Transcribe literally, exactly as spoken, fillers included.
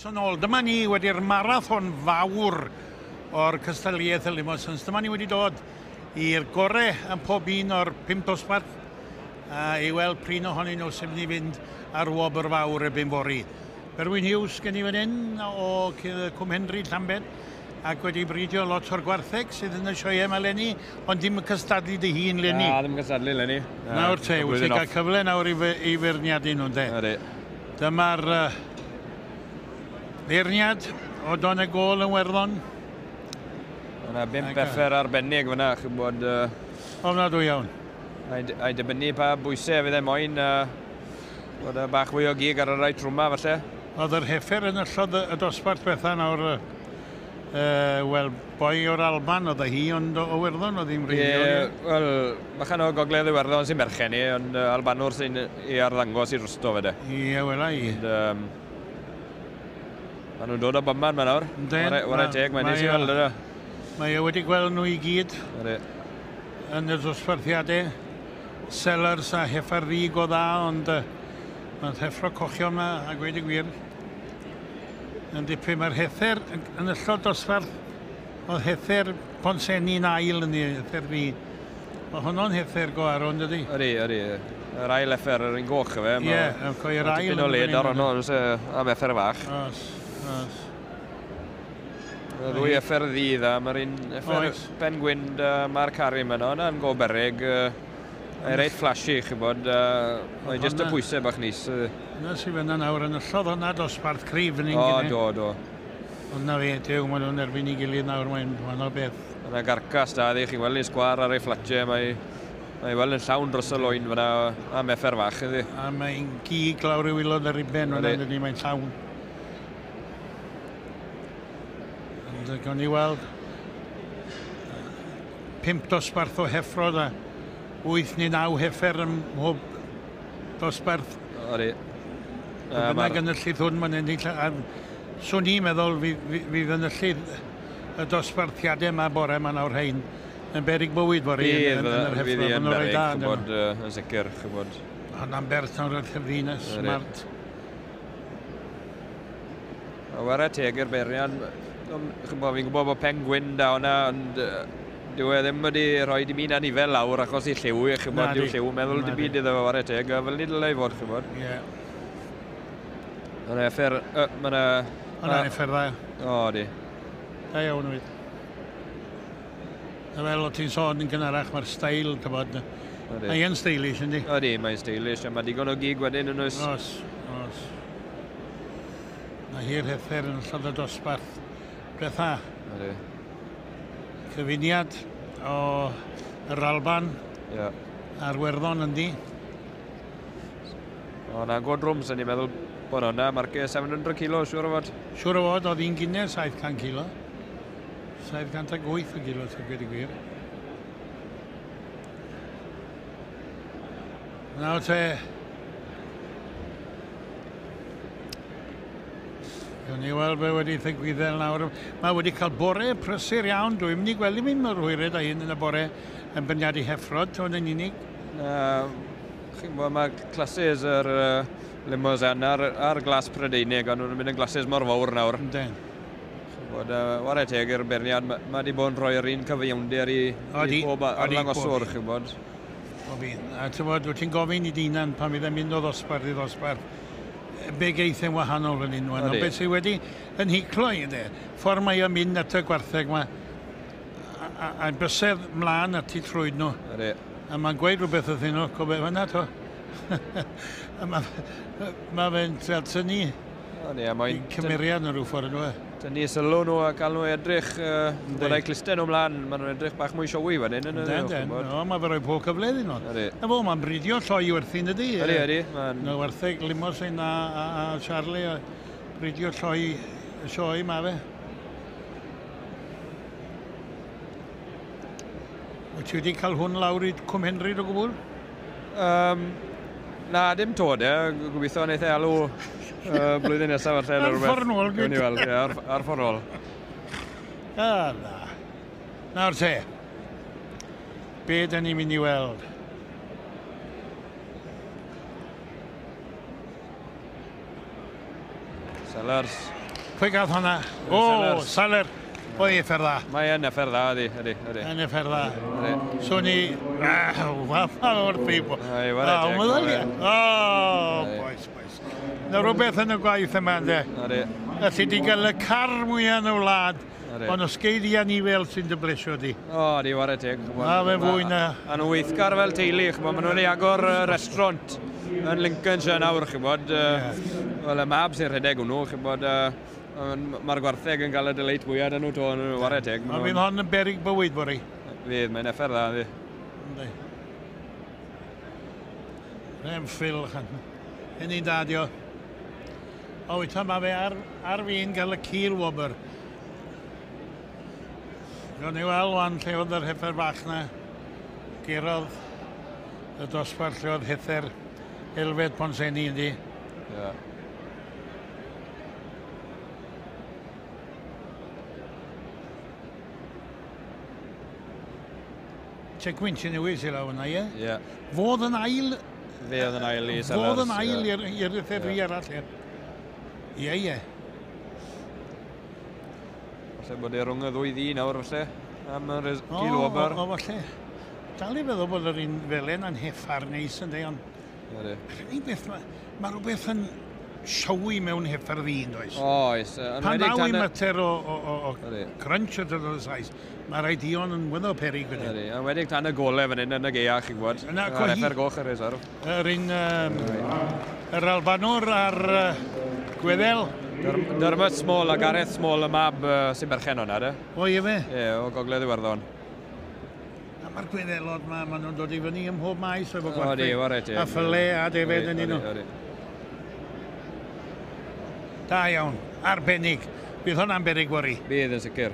Croeso nôl. Dyma ni wedi'r marathon fawr o'r cystadleuaeth y Limosins. Dyma ni wedi dod i'r gore yn pob un o'r pump dosbarth a i weld prin ohonyn nhw sy'n mynd i fynd ar wobr fawr erbyn fory. Berwyn Hughes gen i fan hyn o Cwm Henry Llambed ac wedi bridio lot o'r gwartheg sydd yn y sioe yma leni, ond dim yn cystadlu dy hun leni. Na, ddim yn cystadlu leni. Nawr te, wyt ti'n cael cyfle nawr i, i feirniadu nhw'n de. Ydy. Dyma'r uh, feirniad o Donegal yn Werddon. Yna bump effer arbennig fyna, chi'n bod... Uh, Ofnadwy iawn. A'i dibynnu pa bwysau fydd e moyn, uh, bod y bach fwy o gig ar y rai trwma falle. Oedd yr heffer yn ystod y dosbarth bethau nawr, uh, wel, boi o'r Alban oedd hi, ond o Iwerddon oedd hi'n wreiddiol. Ie, wel, bachan o Gogledd Iwerddon sy'n berchen i, ond uh, Albanwr sy'n ei arddangos i rwsto fe de. Ie, wela i. Ond, um, maen nhw'n dod o bobman ma nawr. Yndyn. Wara teg, mae'n neis i weld yna. Mae e wedi gweld nhw i gyd yn y dosbarthiadau. Sellers a heffer ddig o dda, ond uh, mae'n heffro cochion yma, a gweud y gwir. Yn dipyn, mae'r heffer yn ystod dosbarth, oedd heffer Pontsenni'n ail yn ei heffer fi. Mae honno'n heffer go arw, yn dydi? Ydy, ydy. Yr ail heffer, yr un goch efe. Ie, yr ail. Tipyn o led ar honno, am heffer fach. Os, os. Y ddwy heffer ddu dda, mae'r un heffer Ben Gwyn da Mark Harry yma, hwnna'n go beryg. Mae'n reit flashy, chi'n bod, mae'n jyst y pwysau bach nis. Na sy'n fyna nawr, yn ystod hwnna dosbarth cryf yn un O, gynne. Do, do. Ond na fe, dew, maen nhw'n erbyn i gilydd nawr, mae'n wahanol beth. Yna garcas da, ddi, chi'n gweld ei sgwar ar ei fflatiau, mae mae weld yn llawn dros y loen fyna am effer fach, ydi. A mae'n gig lawr i waelod yr uben, fyna, ydy, mae'n llawn. Ond gawn ni weld pump dosbarth o heffrod a wyth neu naw heffer ym mhob dosbarth. Odi. Bynnag yn y llith hwn, mae'n ennill. Swn i'n meddwl fydd yn y llith y dosbarthiadau yma bore yma nawr hein yn beryg bywyd fory yn yr heffro. Fydd yn beryg, ch'bod, yn sicr, ch'bod. Hwnna'n bert nawr yr hyfrina, smart. Wara teg i'r beirniad, ch'bod, fi'n gwybod bod Pen Gwyn da hwnna, ond dyw e ddim wedi rhoi dim un anifel lawr achos i lliw, ch'bod, dyw lliw, meddwl dim byd iddo fe wara teg, a fel ni dylai fod, ch'bod. Ie. Mae'n effer, mae'n... Hwnna'n effer dda. O, di. Da iawn wyt. A fel o ti'n sôn yn gynharach, mae'r steil, t'bod, mae'n stylish, yndi? Ydy, mae'n stylish, a mae digon o gig wedyn yn oes. Os, os. Mae hi'r heffer yn ystod y dosbarth bretha. Ydy. Cyfuniad o yr Alban yeah. a'r Werddon, yndi? O, na, go drwm, sy'n ni'n meddwl bod hwnna, marcio seven hundred kilo, siŵr o fod. Siŵr o fod, oedd hi'n gynne saith cant kilo. saith cant ag wyth o gilo, sy'n gweud y gwir. Nawr te, gawn ni weld be wedi ddigwydd nawr. Mae wedi cael bore prysur iawn. Dwi'n mynd i gweld i mynd mor hwyred a hyn yn y bore yn beirniadu heffrod, hwn yn unig. Na, chi'n gwybod, mae classes yr uh, Limousin a'r, ar glas Prydeinig, ond nhw'n mynd yn glasses mor fawr nawr. Yndyn. Chi'n gwybod, uh, ware teg i'r beirniad, mae ma wedi bod yn rhoi'r un cyfiawnder i, i pob arddangoswr, chi'n gwybod. Bob un. A ti'n gwybod, wyt ti'n gofyn i dy hunan pan fydd e'n mynd o ddosbarth i ddosbarth, be geith yn wahanol yn unwaith. Ond beth sydd wedi yn hiclo i, yndê, ffordd mae o'n mynd at y gwartheg yma, a, a, a bysedd mlaen at eu trwyd nhw. Ydy. A mae'n gweud rhywbeth wrthyn nhw, cofio fan'na to. A mae ma fe'n trial tynnu cymeriad nhw rhyw ffordd nhw. Tynnu sylw nhw a cael nhw edrych, uh, bod eu clustau nhw mlaen, maen nhw'n edrych bach mwy showy fan hyn. Yndyn, yndyn. No, mae fe roi pob cyfle iddyn nhw. Na fo, mae'n bridio lloi werthu, ydy? Ydy, ydy. No, wartheg Limousin a, a, a Charlie, a bridio lloi y sioe ma fe. Wyt ti wedi cael hwn lawr i Cwm Henry o gwbl? Um, na, dim to de. Gobeithio wneith e alw uh, blwyddyn nesaf falle. Ar ffordd nôl. Gawn ni weld, ie, ar, ar ffordd nôl. Ah, na. Nawr te, be dyn ni'n mynd i weld? Sellers. Pwy gath hwnna? O, Saler. O, effer dda. Mae yn effer dda, ydy, ydy, ydy. Yn effer dda. So ni... Fath o'r beibo. Ai, ware teg. O, boys, boys. Na rhywbeth yn y gwaith yma, ynddo. Ydy. Alli di gael y car mwyaf yn y wlad, ond os gei di anifel sy'n dy blesio di. O, di, ware teg. Na, fe fwy na. A nhw'n weithgar fel teulu, ch'mod, maen nhw'n ei agor restaurant yn Lincolnshire nawr, ch'mod. Wel, y mab sy'n rhedeg hwnnw, ch'mod, mae'r gwartheg yn cael y delight mwyaf dyn nhw to, yn ware teg. Ond fydd hon yn beryg bywyd, bori? Fydd, mae'n effer dda, yndi. Yndi. Rem Phil, chan. Yn un dad, o. O, wyt, mae fe ar, ar fi'n gael y cil wobr. Gawn ni weld wan lle oedd yr heffer bach na. Gurodd y dosbarth lle oedd heffer Elfed Pontsenni, yndi. Ie. Checkwynt sy'n newid sy'n law yna, ie? Ie. Fodd yn ail... Fe oedd yn ail i Sellers. Fodd yn ail i'r heffer arall, ie. Ie, ie. Falle bod e rhwng y ddwy ddi nawr, falle, am yr gil wobr. O, o, falle. Dal i feddwl bod yr un felen yn heffar neis yn dweud, ond... Yr unig beth, mae rhywbeth yn siowi mewn heffar ddyn, does? Oes. Pan ddaw i mater o, o, o, o crunch o dod o'r sais, mae rhaid dion yn wyddo perig wedyn. Ydy, yn wedi tan y gole fan hyn yn y gaea, chi'n gwybod. Yna, Yr heffer goch yr reserve. Yr un, um, yr Albanwr a'r uh, Gweddel. Dermot Small a Gareth Small, y mab uh, sy'n berchen o'na, de? O, ie fe? Ie, o Gogledd Iwerddon. A mae'r Gwyddelod ma, maen nhw'n dod i fyny ym mhob maes efo gwartheg. O, di, ware ti. A ffyle a defed yn un nhw. Da iawn, arbennig. Bydd hwnna'n beryg fory. Bydd yn sicr.